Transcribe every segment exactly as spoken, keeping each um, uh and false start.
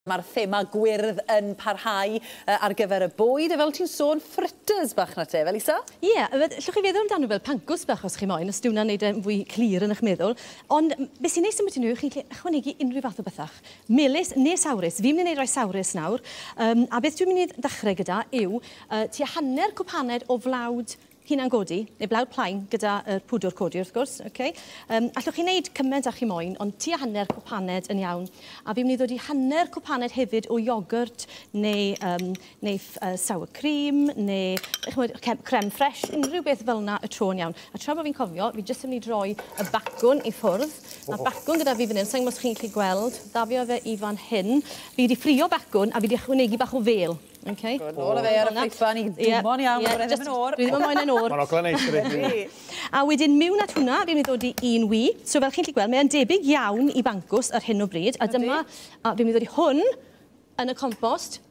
Mae'r thema gwyrdd yn parhau ar gyfer y bwyd, a fel ti'n sôn, fritters bach na te, fel Lisa? Ie, yeah, allwch chi feddwl amdano fel pancws bach os chi moyn, os dyw hwnna'n neud e'n fwy clir yn eich meddwl. Ond beth sy'n neis ambyti nhw, chi'n gallu ychwanegu unrhyw fath o bethach. Melys neu sawrus. Fi'n mynd i wneud rhai sawrus nawr. Um, a beth dwi'n mynd i ddechrau gyda yw uh, tua hanner cwpaned o flawd hunan godi, neu blawd plaen gyda yr pwdwr codi wrth gwrs. Okay. Um, allwch chi wneud cymaint â chi moyn, ond tua hanner cwpaned yn iawn. A fi'n mynd i ddod i hanner cwpaned hefyd o iogwrt neu, um, neu uh, sour cream, neu ch'mod, creme fraiche, unrhyw beth fel yna y tro yn iawn. A tra bod fi'n cofio, fi jyst yn mynd i droi y bacwn i ffwrdd. Mae bacwn gyda fi fan hyn, sa'n gwybod os chi'n gallu gweld, ddafio fe i fan hyn. Fi wedi ffrio bacwn a fi wedi ychwanegu bach o fel. Okay. Good, nôl â fe ar y ffeithfan i dwmo'n iawn, yeah, ddim yn o'r. Dwi ddim yn moyn yn o'r. Mae'n ogla neis, dydi. A wedyn mewn at hwnna, fi'n mynd i ddod i un wy. So fel chi'n gallu gweld, mae'n debyg iawn i bancws ar hyn o bryd. A dyma, a fi'n mynd i ddod i hwn yn y compost.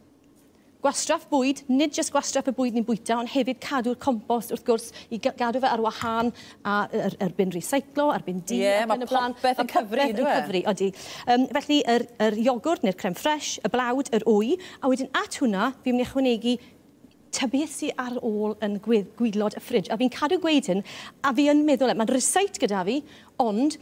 Gwastraff bwyd, nid jyst gwastraff y bwyd ni'n bwyta, ond hefyd cadw'r compost wrth gwrs i gadw fe ar wahân a er, erbyn recyclo, erbyn di, yeah, ac yn y blaen. Mae popeth yn cyfri, yn cyfri, odi. Um, felly, yr, yr iogwrt neu'r creme fraiche, y blawd, yr wy, a wedyn at hwnna, fi'n mynd i ychwanegu ta beth sydd ar ôl yn gwaelod y fridge. A fi'n cadw gweud hyn, a fi yn meddwl, mae'n ryseit gyda fi, ond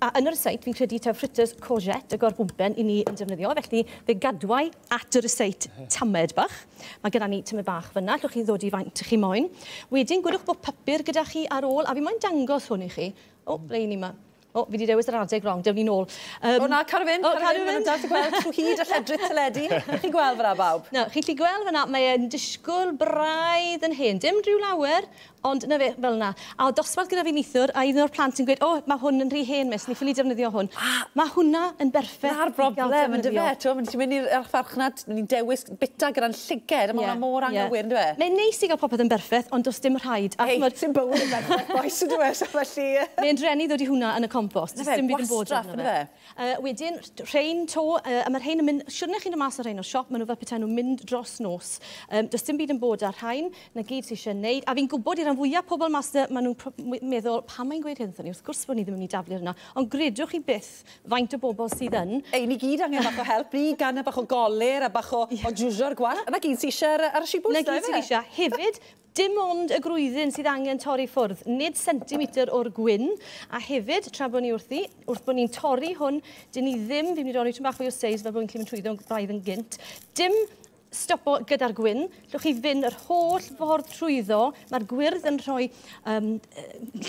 a yn y ryseit fi'n credu taw fritters courgette y gorbwmpen i ni yn defnyddio, felly fe gadwai at y ryseit tamed bach. Mae gyda ni tamed bach fyna, allwch chi ddod i faint chi moyn. Wedyn, gwedwch bod papur gyda chi ar ôl, a fi moyn dangos hwn i chi. O, ble i ni yma? O, fi wedi dewis yr adeg wrong, dewn ni nôl. Um, o na, cadw fynd, cadw fynd. Maen nhw'n dal i gweld trwy hyd y lledrith teledu. Chi'n gweld fyna, bawb? Na, chi'n gallu gweld fyna, mae'n disgwyl braidd yn hen. Dim rhyw lawer, ond na fe, fel yna. A o dosbarth gyda fi neithiwr, a un o'r plant yn gweud, o, mae hwn yn rhy hen, miss, ni ffili defnyddio hwn. Mae hwnna yn berffaith. Na'r broblem, yn dyfe? Ti'n mynd i'r farchnad, ni'n dewis bita gyda'n llyged, a mae hwnna mor anghywir, yn dyfe? Mae'n neis i gael popeth yn berffaith, ond does dim rhaid. Hei, sy'n bywyd yn berffaith, boes, yn dyfe? So felly... Mae'n drenu ddod i hwnna yn y compost. Na fe, gwastraff, yn dyfe? Uh, wedyn, rhein to, uh, a mae'r rhein yn mynd, siwrne chi'n dod mas o'r rhein o'r siop, maen nhw fel petai nhw'n mynd dros nos. Um, does dim byd yn bod ar rhain, na gyd sydd eisiau wneud. A fi'n gwybod i'r rhan fwyaf pobl mas yna, maen nhw'n meddwl, pam mae'n gweud hyn wrthon ni? Wrth gwrs bod ni ddim yn mynd i daflu hwnna. Ond gredwch chi byth faint o bobl sydd yn. Ei, ni gyd angen bach o help, ni gan bach o golir a bach o, yeah. o jwsio'r gwallt. Na gyd sydd eisiau ar, ar y sibwts. Na gyd sydd eisiau. Hefyd, dim ond y grwyddyn sydd angen torri ffwrdd, nid centimetr o'r gwyn. A hefyd, tra bod ni wrthi, wrth bod ni'n torri hwn, dyn ni ddim, fi'n mynd i dorri tipyn bach fwy o seis fel bod ni'n gallu mynd trwyddo braidd yn gynt, dim stopo gyda'r gwyn, llwch chi fynd yr holl ffordd trwyddo, mae'r gwyrdd yn rhoi um,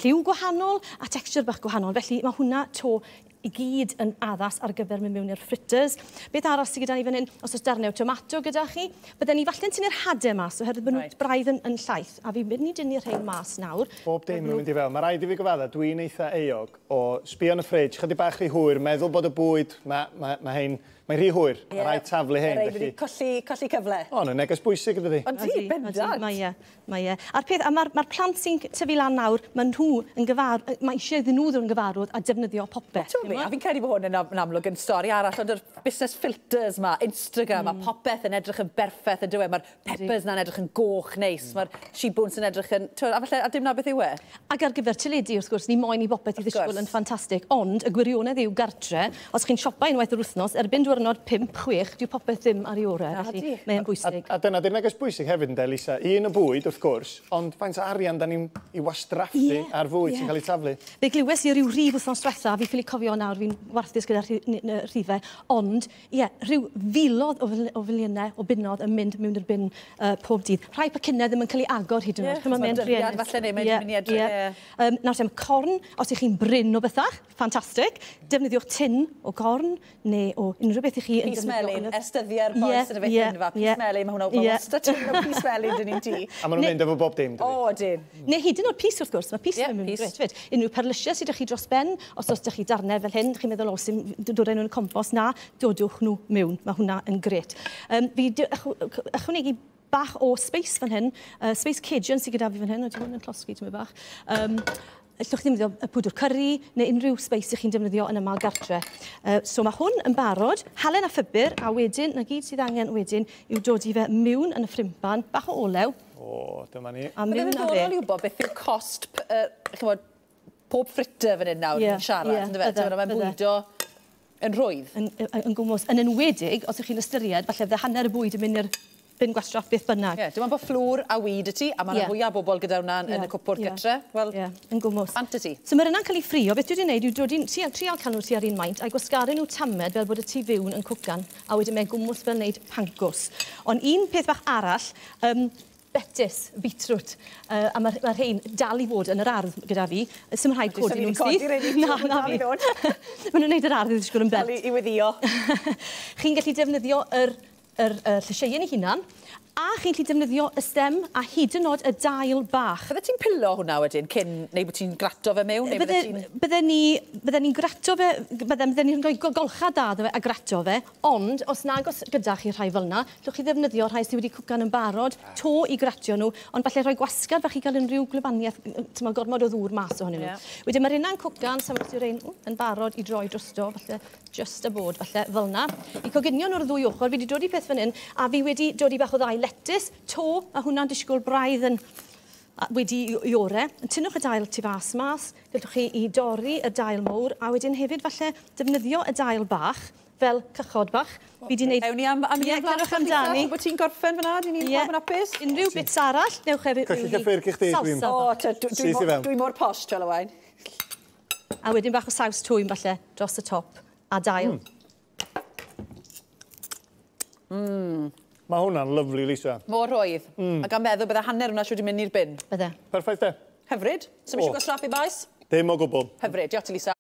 lliw gwahanol a texture bach gwahanol, felly mae hwnna to i gyd yn addas ar gyfer mynd mewn i'r fritters. Beth arall sydd gyda ni fan hyn, os oes darnau o tomato gyda chi, bydden ni falle'n tynnu'r hadau mas, oherwydd bod nhw right. braidd yn, yn llaith, a fi'n mynd i dynnu'r rhain mas nawr. Bob dim nhw'n mynd i fel. Mae rhaid i fi gyfadda, dwi'n eitha euog o sbio yn y fridge, chydig bach rhy hwyr, meddwl bod y bwyd, mae ma, ma hein, mae'n rhy hwyr, yeah. Mae rhaid taflu hein. Mae rhaid colli, colli cyfle. O, no, neges bwysig ydy. Ond ti, bendant. Mae e, mae e. A'r peth, a mae'r ma plant sy'n tyfu lan nawr, maen nhw yn gyfar, mae eisiau iddyn nhw ddod yn gyfarwydd a defnyddio popeth. Be, a fi'n credu bod hwn yn, yn amlwg yn stori arall, ond yr busnes filters ma, Instagram, mm. a popeth yn edrych yn berffaith yn dywe. Mae'r peppers na'n edrych yn goch neis, mm. mae'r shibwns yn edrych yn... A falle, a dim na beth yw e? Ac ar gyfer teledu, wrth gwrs, ni moyn i bopeth i ddisgwyl yn ffantastig, ond y gwirionedd yw gartre, os chi'n siopa unwaith yr wythnos, erbyn diwrnod pump, chwech, dyw popeth ddim ar ei orau, felly mae'n bwysig. A, a, a dyna, dy'r neges bwysig hefyd ynde, Lisa, un y bwyd, wrth gwrs, ond faint o arian da ni'n i wastraffu yeah, ar fwyd yeah. sy'n cael ei taflu. Fe glywes i ryw rif wythnos diwetha, fi ffili cofio nawr, fi'n warthus gyda'r rhifau, ond ie, yeah, rhyw filodd o, o filiynau o bunnoedd yn mynd mewn i'r bin uh, pob dydd. Rhai pacynnau ddim yn cael ei agor hyd yn oed. Yeah, mae'n dyddiad falle neu mae'n mynd i edrych. Yeah. Um, nawr te, corn, os ych chi'n brin o bethach, ffantastig, defnyddiwch tin o gorn neu o unrhyw beth i chi yn defnyddio. Pys melyn, ers dyddiau'r boes yn y beth hynfa, pys melyn, mae hwnna yeah. wastad tin o pys melyn dyn ni'n tŷ. A maen nhw'n mynd efo bob dim, dydi? O, dyn. Neu hyd yn oed pys wrth gwrs, mae pys yn mynd grêt fyd. Unrhyw perlysiau sydd â chi dros ben, os oes ydych chi darnau fel hyn, chi'n meddwl, o, sy'n dod â nhw'n compost, na, dodwch nhw mewn. Mae hwnna yn grêt. Um, fi ychwanegu bach o space fan hyn, uh, space Cajun sydd gyda fi fan hyn, oeddi hwn yn llosgi tymed bach. Um, Allwch chi ddefnyddio y pwdwr curry neu unrhyw spice ych chi'n defnyddio yn yma gartre. Uh, so mae hwn yn barod, halen a phupur, a wedyn, na gyd sydd angen wedyn yw dod i fe mewn yn y ffrimpan, bach o olew. O, dyma ni. A mewn â fe. Bydd e'n ddiddorol i wybod beth yw cost, uh, chymod, pob fritter fan hyn nawr yn yeah, siarad, yeah, yndyfe? Mae'n bwydo Yn rhwydd? Yn, yn, yn gwmws. Yn enwedig, os ych chi'n ystyried, falle fydde hanner y bwyd yn mynd i'r bin gwastraff beth bynnag. Ie, yeah, dim ond bod fflwr a weed y ti, a mae yna yeah. fwyaf o bobl gyda hwnna yeah. yn y cwpwrdd yeah. gytre. Wel, yeah. yn gwmws. Bant y ti. So mae'r yna'n cael ei ffrio. Beth dwi wedi gwneud yw dod i'n trial cael nhw tua'r un maint a'i gwasgaru nhw tamed fel bod y tu fewn yn cwcan, a wedyn mae'n gwmws fel wneud pancws. Ond un peth bach arall, um, betys, beetroot, uh, a mae'r ma rhain dal i fod yn yr ardd gyda fi. Sym rhaid codi nhw'n syth. Na, na fi. Maen nhw'n gwneud yr ardd i ddisgwyl yn belt. Dal i weddio. Chi'n gallu defnyddio yr, yr, yr llysieuyn ei hunan, a chi'n gallu defnyddio y stem a hyd yn oed y dail bach. Bydde ti'n pilo hwnna wedyn cyn, neu bod ti'n grato fe mewn? Neu bydde ti'n... Bydde ni, bydde ni'n grato fe, bydde, bydde ni'n rhoi golcha da iddo fe a grato fe, ond os nag os gyda chi rhai fel yna, llwch chi ddefnyddio rhai sydd wedi cwcan yn barod, to i gratio nhw, ond falle rhoi gwasgad fach i gael unrhyw gwlybaniaeth, ti'n gormod o ddŵr mas ohonyn nhw. Yeah. Wedyn mae'r una'n cwcan, sa mae'r rhain yn barod i droi drosto, falle just a bod, falle fel yna. I coginio nhw'r ddwy ochr, fi wedi dod i peth fan hyn, a fi wedi dod i bach o ddau letys, to, a hwnna'n disgwyl braidd yn wedi i ore. Tynnwch y dail tu fas mas, gallwch chi i dorri y dail mowr, a wedyn hefyd falle defnyddio y dail bach fel cychod bach. Fi wedi wneud... Ewn ni am, am yeah, cerwch amdani. Bod ti'n gorffen fyna, dyn ni'n pawb yn hapus. Unrhyw bits arall, newch hefyd... Colli cyffyrg i chdi, dwi'n... O, dwi mor posh, twel Owain. A wedyn bach o saws twym falle dros y top, a dail. Mm. Mae hwnna'n lyfli, Lisa. Mor rhwydd. Mm. A gan meddwl bydde hanner hwnna siwr wedi mynd i'r bin. Bydde. Perffaith de. Hyfryd. So, oh. Eisiau gwastraffu maes? Dim o gwbl. Hyfryd. Diolch ti, Lisa.